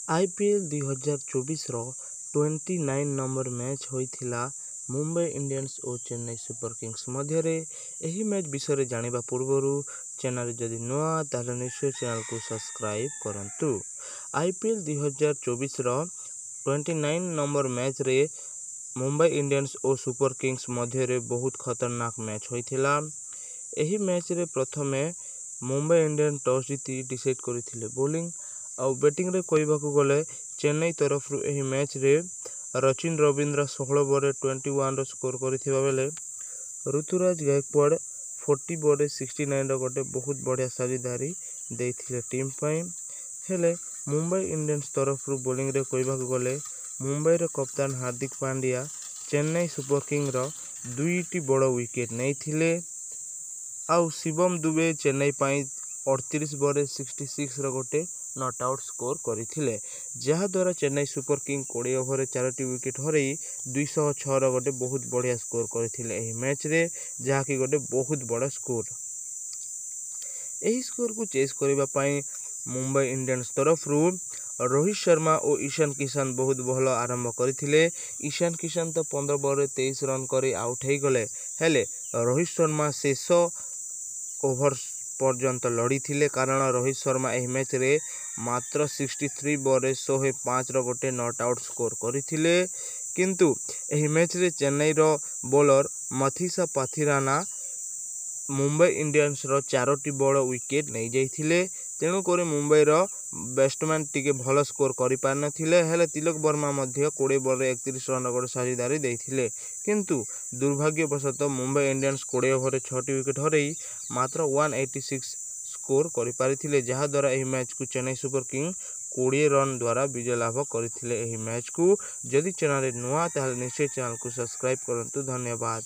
IPL 2024ର 29 number match ହୋଇଥିଲା Mumbai Indians ଓ Chennai super Kings ମଧ୍ୟରେ। ଏହି ମ୍ୟାଚ୍ ବିଷୟରେ ଜାଣିବା ପୂର୍ବରୁ ଚ୍ୟାନେଲ୍ ଯଦି ନୂଆ, ତାହେଲେ ନିଶ୍ଚୟ ଚ୍ୟାନେଲକୁ ସବସ୍କ୍ରାଇବ୍ କରନ୍ତୁ। ଆଇପିଏଲ୍ 2024ର 29 ନମ୍ବର ମ୍ୟାଚ୍ରେ ମୁମ୍ବାଇ ଇଣ୍ଡିଆନ୍ସ ଓ ସୁପର କିଙ୍ଗସ୍ ମଧ୍ୟରେ ବହୁତ ଖତରନାକ ମ୍ୟାଚ୍ ହୋଇଥିଲା। ଏହି ମ୍ୟାଚ୍ରେ ପ୍ରଥମେ ମୁମ୍ବାଇ ଇଣ୍ଡିଆନ୍ସ ଟସ୍ ଜିତି ଡିସାଇଡ଼୍ କରିଥିଲେ ବୋଲିଂ, ଆଉ ବ୍ୟାଟିଂରେ କହିବାକୁ ଗଲେ ଚେନ୍ନାଇ ତରଫରୁ ଏହି ମ୍ୟାଚ୍ରେ ରଚିନ ରବୀନ୍ଦ୍ର 16 ବଲ୍ରେ 21ର ସ୍କୋର କରିଥିବା ବେଳେ ଋତୁରାଜ ଗାଇକୱାଡ଼ 40 ବଲ୍ରେ 69ର ଗୋଟେ ବହୁତ ବଢ଼ିଆ ସାଝେଦାରୀ ଦେଇଥିଲେ ଟିମ୍ ପାଇଁ। ହେଲେ ମୁମ୍ବାଇ ଇଣ୍ଡିଆନ୍ସ ତରଫରୁ ବୋଲିଂରେ କହିବାକୁ ଗଲେ ମୁମ୍ବାଇର କପ୍ତାନ ହାର୍ଦ୍ଦିକ ପାଣ୍ଡ୍ୟା ଚେନ୍ନାଇ ସୁପର କିଙ୍ଗର ଦୁଇଟି ବଡ଼ ୱିକେଟ୍ ନେଇଥିଲେ, ଆଉ ଶିବମ ଦୁବେ ଚେନ୍ନାଇ ପାଇଁ 38 ବଲ୍ରେ 66ର ଗୋଟେ not out score କରିଥିଲେ, ଯାହାଦ୍ୱାରା ଚେନ୍ନାଇ ସୁପର କିଙ୍ଗ 20 ଓଭରରେ ଚାରୋଟି ୱିକେଟ୍ ହରାଇ 206ର ଗୋଟେ ବହୁତ ବଢ଼ିଆ ସ୍କୋର କରିଥିଲେ ଏହି ମ୍ୟାଚ୍ରେ, ଯାହାକି ଗୋଟେ ବହୁତ ବଡ଼ ସ୍କୋର। ଏହି ସ୍କୋରକୁ ଚେସ୍ କରିବା ପାଇଁ ମୁମ୍ବାଇ ଇଣ୍ଡିଆନ୍ସ ତରଫରୁ ରୋହିତ ଶର୍ମା ଓ ଇଶାନ କିଷାନ ବହୁତ ଭଲ ଆରମ୍ଭ କରିଥିଲେ। ଇଶାନ କିଷାନ ତ 15 ବଲ୍ରେ 23 ରନ୍ କରି ଆଉଟ୍ ହେଇଗଲେ, ହେଲେ ରୋହିତ ଶର୍ମା ଶେଷ ଓଭର ପର୍ଯ୍ୟନ୍ତ ଲଢ଼ିଥିଲେ, କାରଣ ରୋହିତ ଶର୍ମା ଏହି ମ୍ୟାଚ୍ରେ ମାତ୍ର 63 ବଲ୍ରେ 105ର ଗୋଟେ not out score କରିଥିଲେ। କିନ୍ତୁ ଏହି ମ୍ୟାଚ୍ରେ ଚେନ୍ନାଇର ବୋଲର ମଥିସା ପାଥିରାନା ମୁମ୍ବାଇ ଇଣ୍ଡିଆନ୍ସର ଚାରୋଟି ବଡ଼ ୱିକେଟ୍ ନେଇଯାଇଥିଲେ। ତେଣୁକରି ମୁମ୍ବାଇର ବ୍ୟାଟ୍ସମ୍ୟାନ୍ ଟିକେ ଭଲ ସ୍କୋର କରିପାରିନଥିଲେ। ହେଲେ ତିଲକ ବର୍ମା ମଧ୍ୟ 20 ବଲ୍ରେ 31 ରନ୍ର ଗୋଟେ ସାଝେଦାରୀ ଦେଇଥିଲେ। କିନ୍ତୁ ଦୁର୍ଭାଗ୍ୟବଶତଃ ମୁମ୍ବାଇ ଇଣ୍ଡିଆନ୍ସ 20 ଓଭରରେ ଛଅଟି ୱିକେଟ୍ ହରାଇ ମାତ୍ର 186 ସ୍କୋର କରିପାରିଥିଲେ, ଯାହାଦ୍ୱାରା ଏହି ମ୍ୟାଚ୍କୁ ଚେନ୍ନାଇ ସୁପର କିଙ୍ଗ 20 ରନ୍ ଦ୍ୱାରା ବିଜୟ ଲାଭ କରିଥିଲେ ଏହି ମ୍ୟାଚ୍କୁ। ଯଦି ଚ୍ୟାନେଲରେ ନୂଆ, ତାହେଲେ ନିଶ୍ଚୟ ଚ୍ୟାନେଲକୁ ସବସ୍କ୍ରାଇବ୍ କରନ୍ତୁ। ଧନ୍ୟବାଦ।